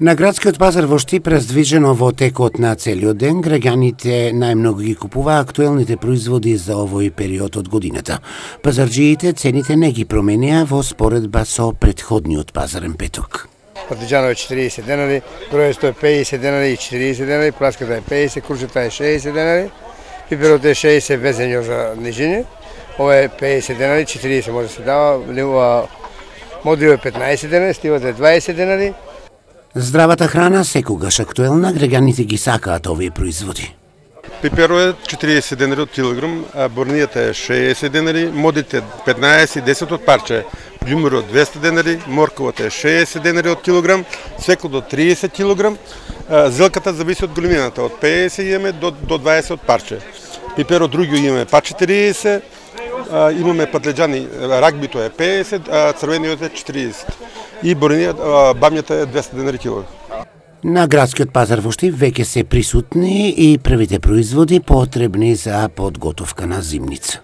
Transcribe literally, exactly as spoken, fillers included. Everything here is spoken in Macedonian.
На градскиот пазар во Штип, раздвижено во текот на целиот ден, граѓаните најмногу ги купуваа актуелните производи за овој период од годината. Пазарџиите цените не ги променија во споредба со претходниот пазарен петок. Патиџанот е четириесет денари, бројесто е пеесет денари и четириесет денари, пласката е пеесет, крушата е шеесет денари, пиперот е шеесет без за нижиње, ова е пеесет денари, четириесет може да се дава, модрио е петнаесет денари, стивот е дваесет денари. Здравата храна секогаш актуелна, граѓаните ги сакаат овие производи. Пиперо е четириесет денари од килограм, а борнијата е шеесет денари, модите петнаесет, десет од парче, ѓумурот двесте денари, морковата е шеесет денари од килограм, свеклото триесет килограм, зелката зависи од големината, од пеесет имаме до, до дваесет од парче. Пиперо другиот имаме па четириесет, имаме патлеџани, рагбито е пеесет, а црвениот е четириесет. И борнијата, бамјата е двесте денари килограм. На градскиот пазар во Штип веќе се присутни и првите производи потребни за подготовка на зимница.